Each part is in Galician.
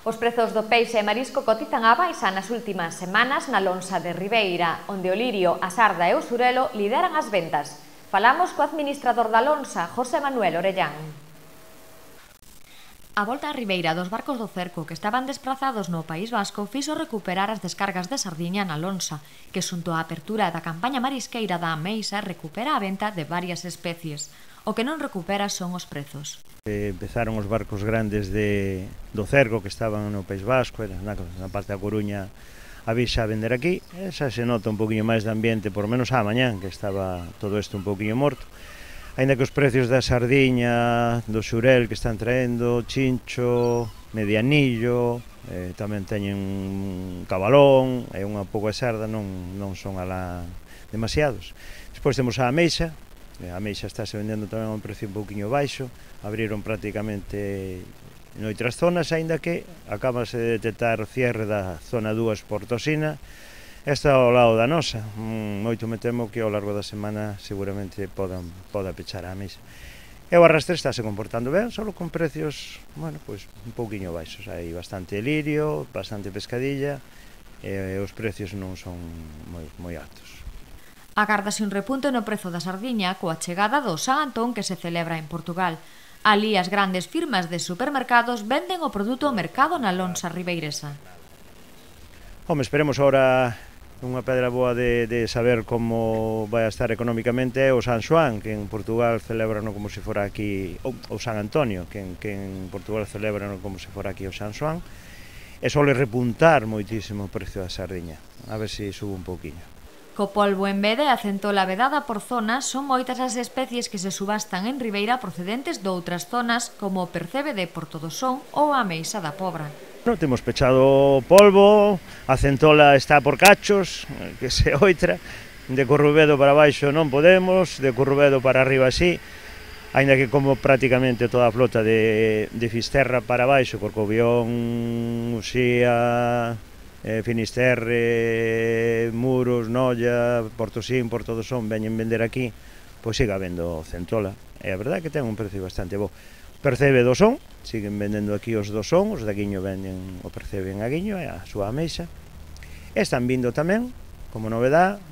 Os prezos do peixe e marisco cotizan á baixa nas últimas semanas na lonxa de Ribeira, onde o lirio, a sarda e o surelo lideran as ventas. Falamos co administrador da lonxa, José Manuel Orellán. A volta á Ribeira dos barcos do cerco que estaban desprazados no País Vasco fixo recuperar as descargas de sardiña na lonxa, que xunto á apertura da campaña marisqueira da Ameixa recupera a venta de varias especies. O que non recupera son os prezos. Empezaron os barcos grandes do cerco que estaban no País Vasco, na parte da Coruña, a vixa a vender aquí. Xa se nota un poquinho máis de ambiente, por menos á mañán, que estaba todo isto un poquinho morto. Ainda que os precios da sardiña, do xurel que están traendo, chincho, medianillo, tamén teñen cabalón e unha pouca sarda, non son alá demasiados. Despois temos a ameixa. A ameixa estáse vendendo tamén a un precio un pouquinho baixo, abriron prácticamente noutras zonas, aínda que acabase de detectar o cierre da zona 2 por Tosina, esta ao lado da nosa. Moito me temo que ao largo da semana seguramente poda pechar a ameixa. E o arrastre estáse comportando ben, só con precios, bueno, pois un pouquinho baixos. Hai bastante lirio, bastante pescadilla, e os precios non son moi altos. Agárdase un repunte no prezo da sardiña coa chegada do San Antón que se celebra en Portugal. Alí as grandes firmas de supermercados venden o produto ao mercado na lonxa ribeiresa. Home, esperemos ahora unha pedra boa de saber como vai a estar económicamente o San Xoán, que en Portugal celebran como se fora aquí, ou San Antonio, que en Portugal celebran como se fora aquí o San Xoán, e sole repuntar moitísimo o precio da sardiña, a ver se sube un pouquiño. Co polvo en vede e a centola vedada por zonas son moitas as especies que se subastan en Ribeira procedentes doutras zonas como o percebe de Portodosón ou a ameixa da Pobra. Temos pechado o polvo, a centola está por cachos, que se oitra, de Corrubedo para baixo non podemos, de Corrubedo para arriba sí, aínda que como prácticamente toda a flota de Fisterra para baixo, Corcobión, Uxía, Finisterre, Muros, Noia, Portosín, Portodosón veñen vender aquí, pois siga habendo centola. E a verdade é que ten un precio bastante bo. Percebe do son, siguen vendendo aquí os do son, os de Aguiño venden o percebe en Aguiño e a súa ameixa. Están vindo tamén, como novedad,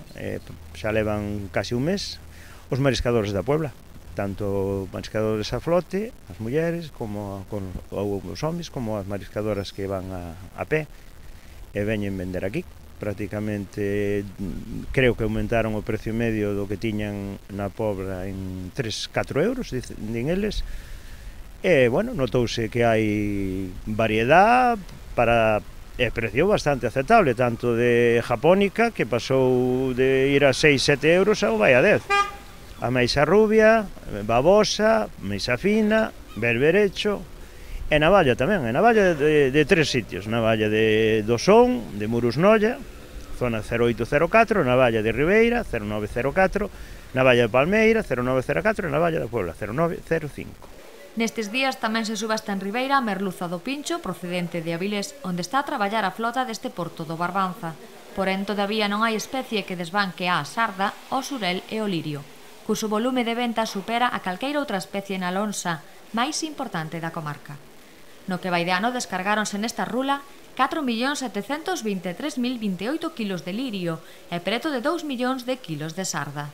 xa levan casi un mes, os mariscadores da Puebla. Tanto mariscadores a flote, as mulleres, como os homes, como as mariscadoras que van a pé. E veñen vender aquí. Prácticamente creo que aumentaron o precio medio do que tiñan na Pobra en 3-4 euros, din eles. E, bueno, notouse que hai variedade para precio bastante aceptable, tanto de japónica, que pasou de ir a 6-7 euros ao vai a 10. A meixa rubia, babosa, meixa fina, berberecho, e navalla tamén, e navalla de tres sitios, navalla de Dosón, de Muros Noia, zona 0804, navalla de Ribeira, 0904, navalla de Palmeira, 0904 e navalla da Puebla, 0905. Nestes días tamén se subasta en Ribeira a merluza do Pincho, procedente de Avilés, onde está a traballar a flota deste porto do Barbanza. Porén, todavía non hai especie que desbanque a sarda, o surel e o lirio, cuxo volume de venta supera a calqueira outra especie na lonxa máis importante da comarca. No que vai de ano descargáronse nesta rula 4.723.028 kilos de lirio e preto de 2 millóns de kilos de sarda.